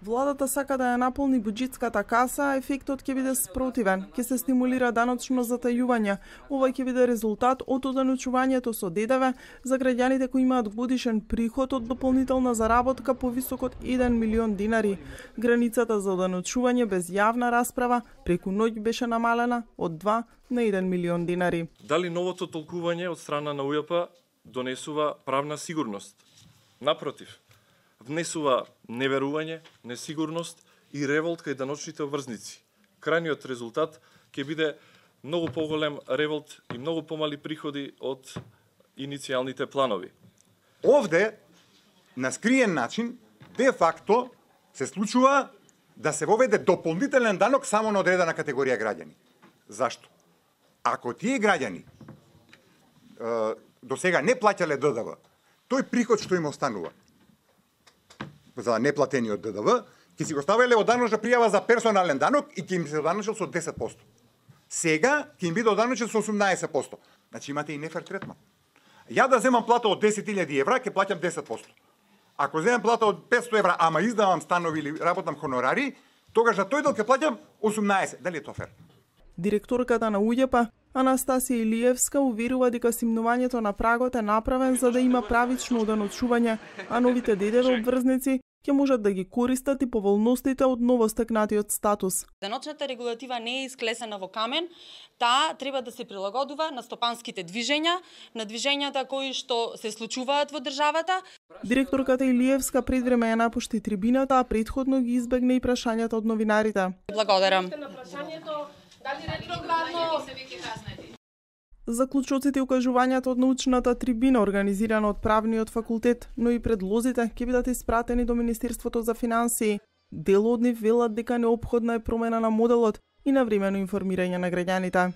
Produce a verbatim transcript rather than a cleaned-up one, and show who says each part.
Speaker 1: Владата сака да ја наполни буџетската каса, а ефектот ќе биде спротивен. Ќе се стимулира даночно затајување. Ова ќе биде резултат од оданочувањето со ДДВ за граѓаните кои имаат годишен приход од дополнителна заработка повисок од еден милион динари. Границата за оданочување без јавна расправа преку ноќ беше намалена од два на еден милион динари.
Speaker 2: Дали новото толкување од страна на УЈП донесува правна сигурност? Напротив, внесува неверување, несигурност и револт кај даночните обврзници. Крајниот резултат ќе биде многу поголем револт и многу помали приходи од иницијалните планови.
Speaker 3: Овде, на скриен начин, де факто се случува да се воведе дополнителен данок само на одредена категорија граѓани. Зашто? Ако тие граѓани до сега не плаќале ДДВ, тој приход што им останува за неплатениот ДДВ, ќе си го ставеле од даночна пријава за персонален данок и ќе им се оданочил со десет проценти. Сега ќе им биде оданочил со осумнаесет проценти. Значи имате и нефер третман. Ја да земам плата од десет илјади евра, ќе плаќам десет проценти. Ако земам плата од петстотини евра, ама издавам станови или работам хонорари, тогаш за тој дел ќе плаќам осумнаесет. Дали е тоа фер?
Speaker 1: Директорката на УЈП Анастасија Илиевска уверува дека симнувањето на прагот е направен за да има правично оданочување, а новите ДДВ обврзници ќе можат да ги користат и поволностите од новостекнатиот статус.
Speaker 4: Даночната регулатива не е исклесена во камен, таа треба да се прилагодува на стопанските движења, на движењата кои што се случуваат во државата.
Speaker 1: Директорката Илиевска пред време ја напушти трибината, а претходно ги избегна и прашањата од новинарите.
Speaker 4: Благодарам.
Speaker 5: Дали ретроградно
Speaker 1: Заклучоците и укажувањата од научната трибина организирана од Правниот факултет, но и предлозите ќе бидат испратени до Министерството за финансии. Дел од нив велат дека неопходна е промена на моделот и навремено информирање на граѓаните.